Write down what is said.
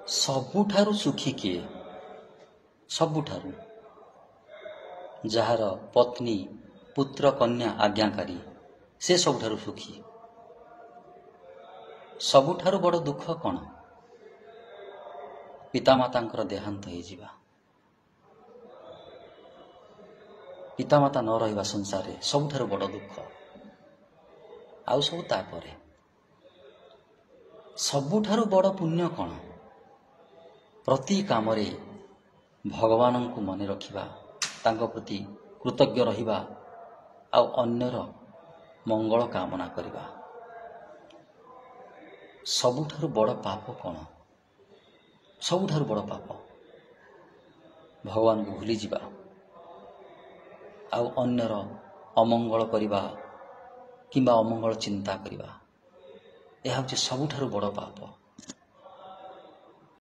ସବୁଠାରୁ ସୁଖୀ କିଏ? ସବୁଠାରୁ ଯାହାର ପତ୍ନୀ, ପୁତ୍ର, କନ୍ୟା ଆଜ୍ଞାକାରୀ, ସେ ସବୁଠାରୁ ସୁଖୀ। ସବୁଠାରୁ ବଡ଼ ଦୁଃଖ କ'ଣ? ପିତାମାତାଙ୍କର ଦେହାନ୍ତ ହେଇଯିବା, ପିତାମାତା ନ ରହିବା ସଂସାରରେ ସବୁଠାରୁ ବଡ଼ ଦୁଃଖ। ଆଉ ସବୁ ତାପରେ। ସବୁଠାରୁ ବଡ଼ ପୁଣ୍ୟ କ'ଣ? ପ୍ରତି କାମରେ ଭଗବାନଙ୍କୁ ମନେ ରଖିବା, ତାଙ୍କ ପ୍ରତି କୃତଜ୍ଞ ରହିବା ଆଉ ଅନ୍ୟର ମଙ୍ଗଳ କାମନା କରିବା। ସବୁଠାରୁ ବଡ଼ ପାପ କ'ଣ? ସବୁଠାରୁ ବଡ଼ ପାପ ଭଗବାନଙ୍କୁ ଭୁଲିଯିବା ଆଉ ଅନ୍ୟର ଅମଙ୍ଗଳ କରିବା କିମ୍ବା ଅମଙ୍ଗଳ ଚିନ୍ତା କରିବା, ଏହା ହେଉଛି ସବୁଠାରୁ ବଡ଼ ପାପ।